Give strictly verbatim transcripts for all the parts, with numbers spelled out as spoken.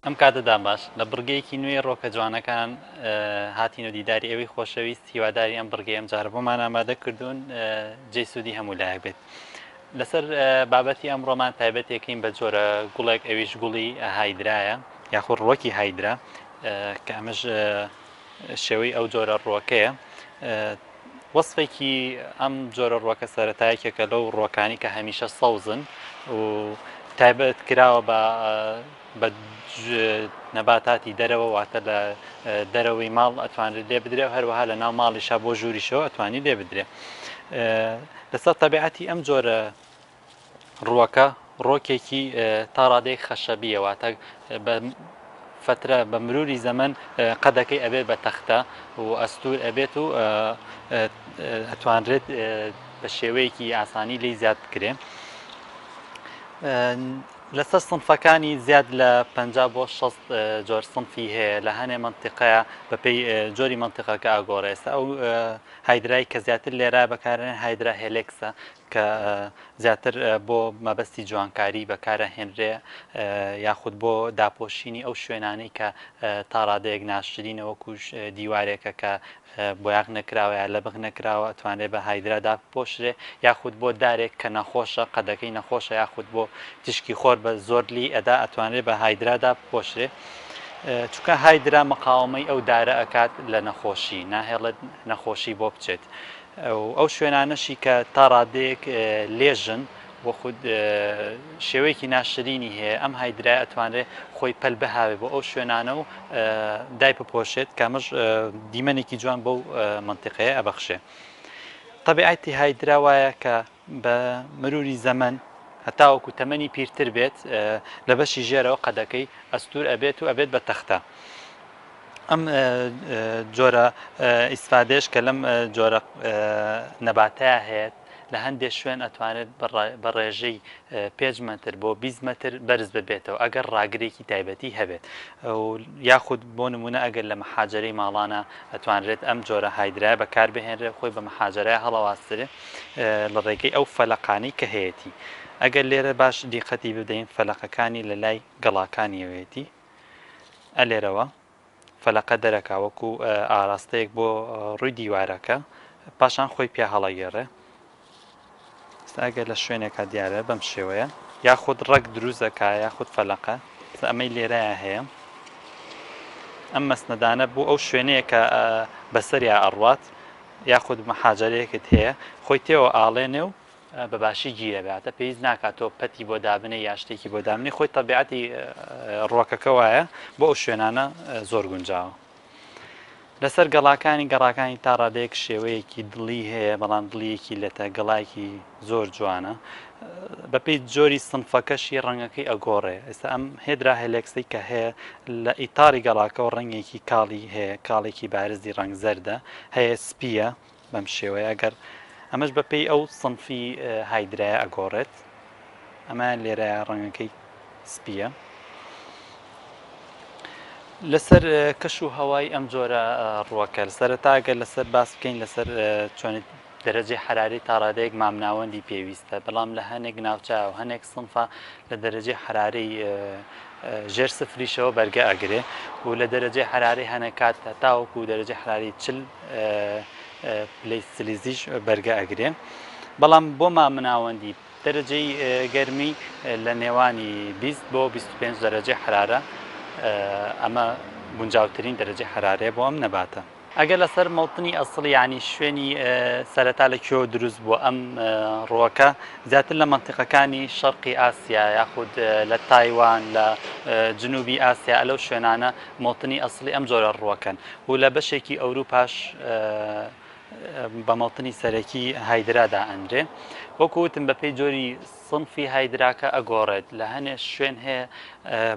ئەم کاتەدان باش. لە بڕگەیەکی نوێی ڕۆکە جوانەکان هاتین و دیداری ئێوەی خۆشەویست. هیواداری ئەم بڕگەی ئەم جارە بۆمان ئامادە کردوون جێی سوودی هەموو لایەک بێت. لەسەر بابەتی ئەم ڕۆمان تایبەتێکین بە جۆرە گوڵێک، ئەویش گوڵی هایدرایە یاخود ڕۆکی هایدرا، کە ئەمەش شێوەی ئەو جۆرە ڕۆکەیە. وەصفێکی ئەم جۆرە ڕۆکە سەرەتایەکێکە لەو ڕۆکانی کە هەمیشە سەوزن و تایبەت کراوە بە بە نەباتاتی دەرەوە، واتە لە دەرەوەی ماڵ ئەتوانرێت لێ بدرێ و هەروەها لە ناو ماڵیشا بۆ ژووریشەوە ئەتوانی لێ بدرێ. لەسەر تەبیعەتی ئەم جۆرە ڕووەکە ڕۆکێکی تا ڕادەیەک خەشەبیە، واتە بە فترە بە مروری زەمەن قەدەکەی ئەبێت بە تەختە و ئەستور ئەبێت و ئەتوانرێت بە شێوەیەکی ئاسانی لی زیاد بکرێ. لەسەر سنفەکانی زیاد لە پەنجا بۆ شەست جۆر سنفی هەیە لە هەنێ منطقەیە بەپێی جۆری منطقەکە ئاگۆڕێ. ئێستا ئەو هایدرای کە زیاتر لێرە بەکارێن هایدرا هێلێکسە کە زیاتر بۆ مەبەستی جوانکاری بەکارە هێنرێ یاخود بۆ داپۆشینی ئەو شوێنانەی کە تا ڕادەیەک ناشرینە، وەکو دیوارێکە کە بۆیاغ نەکراوە یا لەبغ نەکراوە ئەتوانرێت بە هایدرا داپۆشرێ، یاخود بۆ دارێک کە نەخۆشە قەدەکەی نەخۆشە یاخود بۆ تیشکی خۆر بە زۆر لی ئەدا ئەتوانرێت بە هایدرا داپۆشرێ. چونکە هایدرا مقاومەی ئەو دارە ئەکات لە نەخۆشی، ناهێڵێت نەخۆشی بۆ بچێت. ئەو شوێنانەشی کە تا ڕادەیەک لێژن بۆ خود شێوەیەکی ناشرینی هەیە، ئەم هایدرای ئەتوانرێت خۆی پەل بهاوێ بۆ ئەو شوێنانە و دای بپۆشێت کە ئەمەش دیمەنێکی جوان بەو منطقەیە ئەبەخشێ. طبیعەتی هایدرا وایە کە بە مروری زەمەن هەتاوەکو تەمەنی پیرتر بێت لە بەشی ژێرەوە قەدەکەی ئەستور ئەبێت و ئەبێت بە تەختە. ئەم جۆرە ئیسفادێش کە لەم جۆرە نەباتەیە هەیە لە هەندێک شوێن ئەتوانێت بە ڕێژەی پێنج مەتر بۆ بیست مەتر بەرز ببێتەوە ئەگەر ڕاگرێکی تایبەتی هەبێت، یاخود بۆ نمونە ئەگەر لە مەحاجەرەی ماڵانە ئەتوانرێت ئەم جۆرە هایدرایە بەکار بهێنرێت خۆی بە مەحاجەرەیە هەڵەواسترێ لە ڕێگەی ئەو فەلەقانەی کە هەیەتی. ئەگەر لێرە باش دیقەتی بدەین فەلەقەکانی لە لای گەڵاکانیەوەیەتی، ئەلێرەوە فەلەقە دەرەکا وەکو ئاراستەیەک بۆ ڕووی دیوارەکە، پاشان خۆی پیا هەڵەگێڕێ. ئێستا ئەگەر لە شوێنێکا دیارە بەم شێوەیە، یاخود ڕەگ دروست دەکا یاخود فەلەقە. ئێستا ئەمەی لێرەیە هەیە، ئەم مەسنەدانە بۆ ئەو شوێنەیە کە بەسەریا ئەڕوات یاخود مەحاجەرەیەکت هەیە خۆی تێوە ئاڵێنێ و بە باشی گیرە بێتە، پێویست ناکات تۆ پەتی بۆ دابنێ یا شتێکی بۆ دابنێ، خۆی تەبیعەتی ڕۆکەکە وایە بۆ ئەو شوێنانە زۆر گونجاوە. لەسەر گەڵاکانی گەڕاکانی تا ڕادەیەک شێوەیەکی دڵی هەیە، بەڵام دڵیەکی لەتە گەڵایەکی زۆر جوانە. بەپێی جۆری سنفەکەشی ڕەنگەکەی ئەگۆڕێ. ئێستا ئەم هێدرا هێلێکسەی کە هەیە لە ئیتاری گەڵاکەەوە ڕەنگێکی کاڵی هەیە، کاڵێکی بارزی ڕەنگ زەردە هەیە، سپیە بەم شێوەیە. ئەگەر ئەمەش بەپێی ئەو سنفی هایدرایە ئەگۆڕێت، ئەمە لێرە ڕەنگەکەی سپیە. لەسەر کەش و هەوای ئەم جۆرە ڕووەکە سەرەتا ئەگەر لەسەر باس بکەین لەسەر چۆن دەرەجەی حراری تا ڕادەیەک مامناوەندی پێویستە، بەڵام لە هەنێک ناوچە و هەنێک سنفە لە دەرەجەی حراری ژێر سفریشەوە بەرگە ئەگرێ و لە دەرەجەی حراری هەنێک کات تاوەکو دەرەجەی حراری چل پلەی سلیزیش بەرگە ئەگرێ. بەڵام بۆ مامناوەندی دەرەجەی گەرمی لە نێوانی بیست بۆ بیست و پێنج دەرەجەی حرارە، ئەمە گونجاوترین دەرەجەی حرارەیە بۆ ئەم نەباتە. ئەگەر لەسەر مەوتنی ئەسڵی یعنی شوێنی سەرەتا لە کوێوە دروست بووە ئەم ڕووەکە، زیاتر لە منطقەکانی شەرقی ئاسیا یاخود لە تایوان لە جنوبی ئاسیا لەو شوێنانە مەوتنی ئەسڵی ئەم جۆرە ڕووەکەن و لە بەشێکی ئەوروپاش بە مەوتنی سەرەکی هایدرادا ئەنرێ. وەکو وتم بەپێی جۆری سنفی هایدراکە ئەگۆڕێت، لە هەنێ شوێن هەیە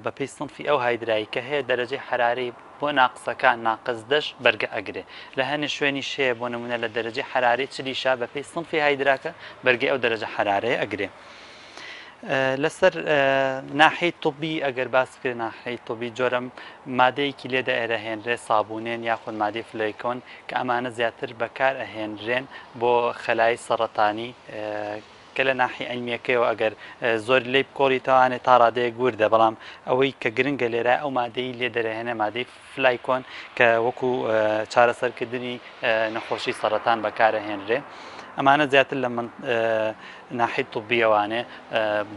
بەپێی سنفی ئەو هایدرایی کە هەیە دەرەجەی حراری بۆ ناقسەکان ناقس دەش بەرگە ئەگرێ، لە هەنێ شوێنی شەیە بۆ نمونە لە دەرەجەی حراری چلیشا بەپێی سنفی هایدراکە بەرگەی ئەو دەرەجە حرارەیە ئەگرێ. لەسەر ناحەی طبی ئەگەر باس بکرێت، ناحەی طبی جۆرە مادەیەکی لێدا ئێرەهێنرێ سابوونێن یاخود مادەی فلەیکۆن کە ئەمانە زیاتر بەکار ئەهێنرێن بۆ خەلای سەرەتانی کە لە ناحی عیلمیەکەیەوە ئەگەر زۆر لێی بکۆڵیتەوانێ تا ڕادەیەک وردە، بەڵام ئەوەی کە گرنگە لێرە ئەو مادەی لێ دەرەهێنە مادەی فلایکۆن کە وەکو چارەسەرکردنی نەخۆشی سەرەتان بەکارەهێنرێ. ئەمانە زیاتر لە ناحی طبیەوانێ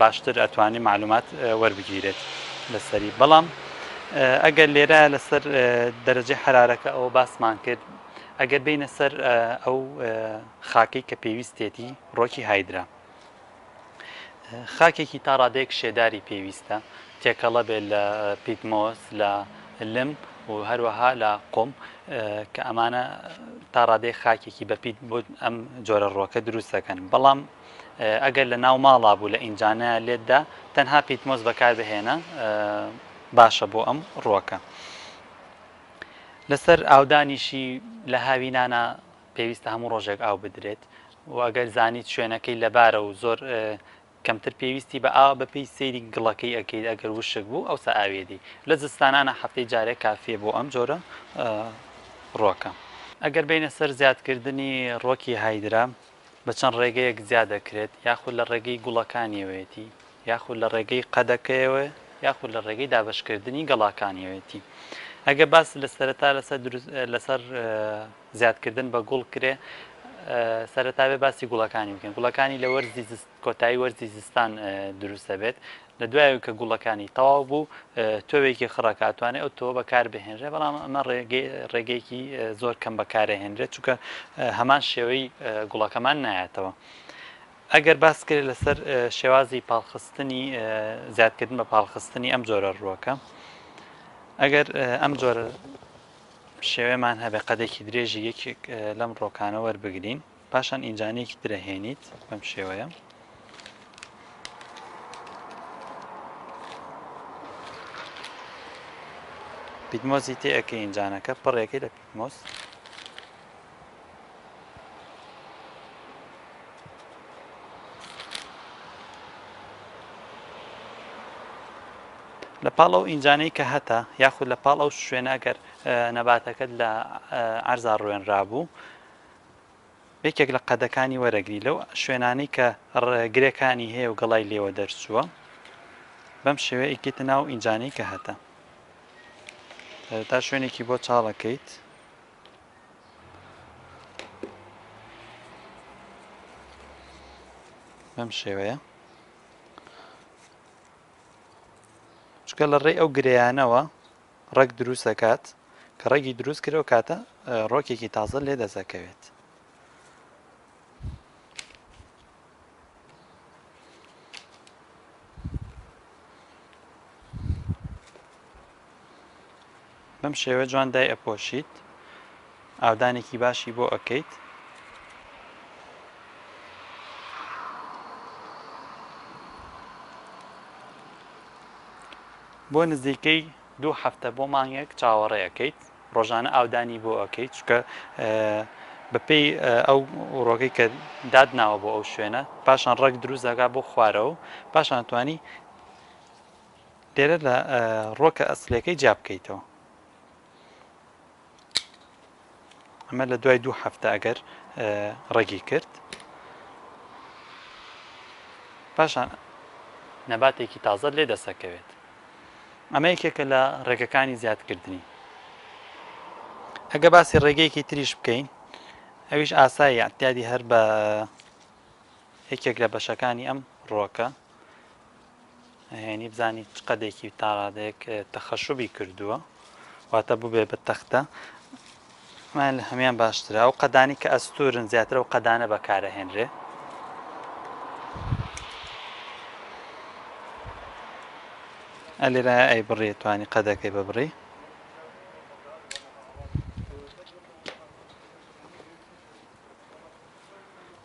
باشتر ئەتوانێت معلومات وەربگیرێت لەسەری. بەڵام ئەگەر لێرە لەسەر دەرەجەی حرارەکە ئەوە باسمان کرد، ئەگەر بینە سەر ئەو خاکەی کە پێویستێتی ڕۆکی هایدرا، خاکێکی تا ڕادەیەک شێداری پێویستە، تێکەڵە بێت لە پیتمۆس، لە لم و هەروەها لە قوم، کە ئەمانە تا ڕادەیەک خاکێکی بەپیت بۆ ئەم جۆرە ڕۆکە دروست دەکەن. بەڵام ئەگەر لە ناو ماڵا بوو لە ئینجانە لێتدا تەنها پیتمۆس بەکار بهێنە باشە بۆ ئەم ڕۆکە. لەسەر ئاودانیشی لە هاوینانە پێویستە هەموو ڕۆژێک ئاو بدرێت و ئەگەر زانیت شوێنەکەی لەبارە و زۆر کەمتر پێویستی بە ئاوە بەپێی سەیری گڵەکەی ئەکەیت، ئەگەر وشک بوو ئەوسا ئاوێدی. لە زستانانە هەفتەی جارێک کافیە بۆ ئەم جۆرە ڕۆکە. ئەگەر بینە سەر زیادکردنی ڕۆکی هایدرا بە چەند ڕێگەیەک زیاد دەکرێت، یاخود لە ڕێگەی گوڵەکانیەوەیەتی، یاخود لە ڕێگەی قەدەکەیەوە، یاخود لە ڕێگەی دابەشکردنی گەڵاکانیەوەیەتی. ئەگەر باس لە سەرەتا لەسەر لەسەر زیادکردن بە گوڵ کرێ، سەرەتا بێ باسی گوڵەکانی بکەین. گوڵەکانی لە وەرزی کۆتایی وەرزی زستان دروستە بێت. لە دوایەوە کە گوڵەکانی تەواو بوو تۆوێکی خڕەکە ئەتوانێت ئەو تۆوە بەکار بهێنرێ، بەڵام ئەمە ڕێگەیەکی زۆر کەم بەکارهێنرێت چونکە هەمان شێوەی گوڵەکەمان نایەتەوە. ئەگەر باس کرێت لەسەر شێوازی پاڵخستنی زیادکردن بە پاڵخستنی ئەم جۆرە ڕووەکە، ئەگەر ئەم جۆرە شێوەمان هەبێ قەدێکی درێژی یەکێک لەم ڕۆکانە وەربگرین، پاشان ئینجانەیەکی ترەهێنیت بەم شێوەیە. پیتمۆزی تێ ئەکەی ئینجانەکە پڕێکەی لە پیتمۆز. لە پاڵ ئەو ئینجانەی کە هەتە یاخود لە پاڵ ئەو شوێنە ئەگەر نەباتەکەت لە عەرزا ڕوێنرابوو، یەکێک لە قەدەکانی وەرەگری لەو شوێنانەی کە گرێکانی هەیە و گەڵای لێوە دەرچووە، بەم شێوەیە ئیکێتە ناو ئینجانەی کە هەتە. تا شوێنێکی بۆ چاڵەکەیت. بەم شێوەیە، چونکە لە ڕێی ئەو گرێیانەوە ڕەگ دروست دەکات، کە ڕەگی دروست کرد ئەو کاتە ڕۆکێکی تازە لێ دەزەکەوێت. بەم شێوە جوان دای ئەپۆشیت، ئاودانێکی باشی بۆ ئەکەیت. بۆ نزیکەی دوو هەفتە بۆ مانگێک چاوەڕێ ئەکەیت، ڕۆژانە ئاودانی بۆ ئەکەیت، چونکە بەپێی ئەو ڕۆکەی کە دادناوە بۆ ئەو شوێنە، پاشان ڕەگ دروست دەکات بۆ خوارەوە، پاشان توانی لێرە لە ڕۆکە ئەسلەکەی جیا بکەیتەوە. ئەمە لە دوای دوو هەفتە ئەگەر ڕەگی کرد، پاشان نەباتێکی تازە لێ دەسەکەوێت. ئەمە یەکێکە لە ڕێگەکانی زیادکردنی. ئەگە باسی ڕێگەیەکی تریش بکەین، ئەویش ئاسایی اعتیادی هەر بە یەکێک لە بەشەکانی ئەم ڕۆکە هێنی بزانی چ قەدێکی تا ڕادەیەک تەخەشوبی کردووە، واتە ببێ بە تەختە. ئەمە لە هەمیان باشترە. ئەو قەدانی کە ئەستورن زیاتر ئەو قەدانە بەکارەهێنرێ. ئەلێرایە ئەی بڕێ توانی قەدەکەی ببڕی.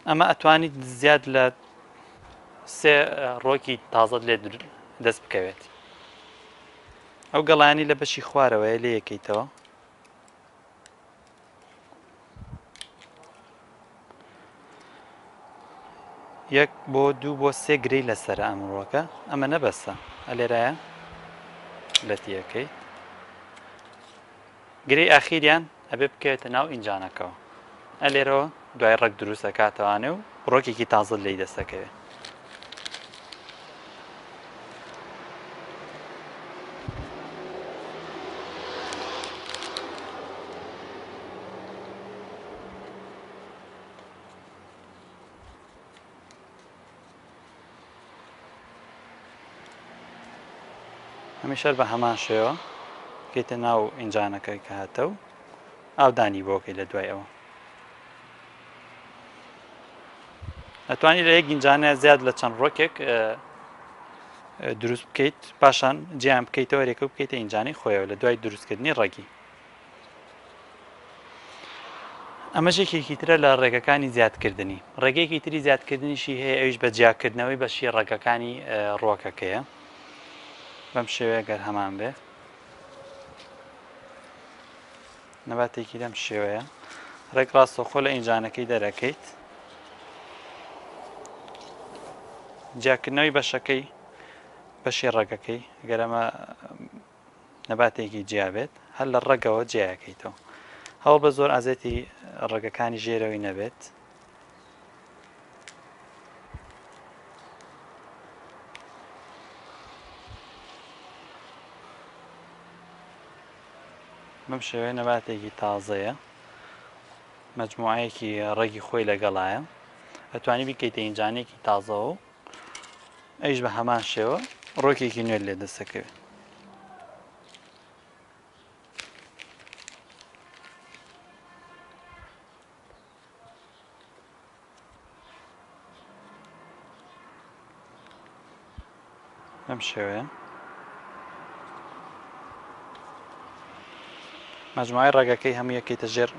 ئەمە ئەتوانیت زیاد لە سێ ڕۆکی تازەت لێ دەست بکەوێت. ئەو گەڵانی لە بەشی خوارەوەیە لێ یەکەیتەوە. یەک بۆ دوو بۆ سێ گرەی لەسەرە ئەم ڕۆکە، ئەمە نەبەسە. ئەلێرایە لەتیەکەی گرەی ئاخیریان ئەبێ بکەوێتە ناو ئینجانەکەوە. ئەلێرەوە دوای ڕەگ دروست ئەکاتەوانێ و ڕۆکێکی تازە لێی دەستەکەوێت. هەمیشە بە هەمان شێوە کەیتە ناو ئینجانەکە کە هاتە و ئاودانی بۆکەی لە دوای ئەوە. ئەتوانی لە یەک ئینجانە زیاد لە چەند ڕۆکێک دروست بکەیت، پاشان جیان بکەیتەوە رێکە بکەیتە ئینجانەی خۆیەوە لە دوای دروستکردنی ڕەگی. ئەمەش یەکێکی ترە لە ڕێگەکانی زیادکردنی. ڕێگەیەکی تری زیادکردنیشی هەیە، ئەویش بە جیاکردنەوەی بەشی ڕەگەکانی ڕۆکەکەیە. بەم شێوەیە گەر هەمان بێ نەباتێکی لەم شێوەیە ڕێک ڕاستەوخۆ لە ئینجانەکەی دەرەکەیت، جیاکردنەوەی بەشەکەی بەشی ڕەگەکەی ئەگەر ئەمە نەباتێکی جیا بێت هەر لە ڕەگەوە جیاکەیتەوە. هەوڵ بە زۆر ئازێتی ڕەگەکانی ژێرەوەی نەبێت. بەم شێوەیە نەباتێکی تازەیە، مەجموعەیەکی ڕەگی خۆی لەگەڵایە، ئەتوانی بیکەیتە ئینجانێکی تازەوە و ئەیش بە هەمان شێوە ڕۆکێکی نوێ لێ دەستەکەوێت. بەم شێوەیە مەجموعەی ڕەگەکەی هەموو یەکەیتە ژێر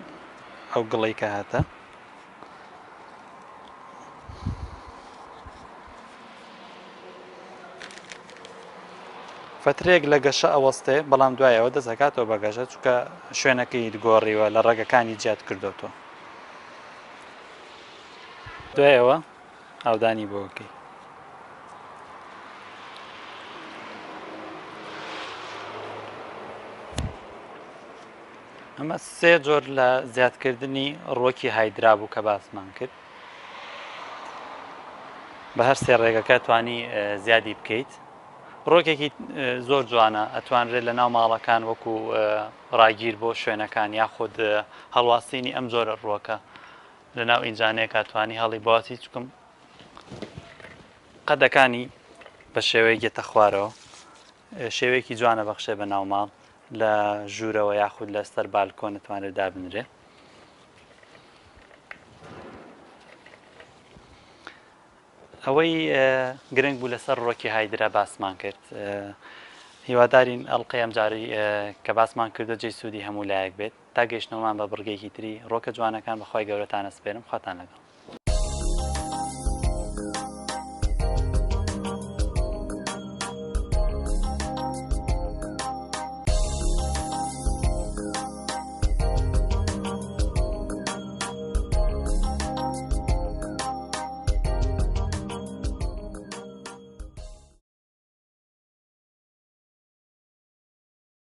ئەو گڵەی کە هاتە. فترەیەک لە گەشە ئەوەستێ، بەڵام دوایەوە دەست ئەکاتەوە بە گەشە، چونکە شوێنەکەی گۆڕیوە لە ڕەگەکانی زیاد کردوتەوە. دوایەوە ئاودانی بۆکەی. ئەمە سێ جۆر لە زیادکردنی ڕۆکی هایدرا بوو کە باسمان کرد. بە هەر سێ ڕێگەکە توانی زیادی بکەیت. ڕۆکێکی زۆر جوانە، ئەتوانرێت لە ناو ماڵەکان وەکو ڕاگیر بۆ شوێنەکان یاخود هەڵواسینی ئەم جۆرە ڕووەکە لە ناو ئینجانەیەک ئەتوانی هەڵی بواسی، چکم قەدەکانی بە شێوەیەک گێتە خوارەوە، شێوەیەکی جوانە بەخشێ بە ناو ماڵ لە ژوورەوە یاخود لەسەر بالکۆن ئەتوانرێت دابنرێ. ئەوەی گرنگ بوو لەسەر ڕۆکی هایدرا باسمان کرد. هیوادارین ئەڵلقەی ئەمجارەی کە باسمان کردو جێی سوودی هەموو لایەک بێت. تا گەیشتنەوەمان بە بڕگێکی تری ڕۆکە جوانەکان بەخوای گەورەتانە سپێرم. خواتان لەگەڵ.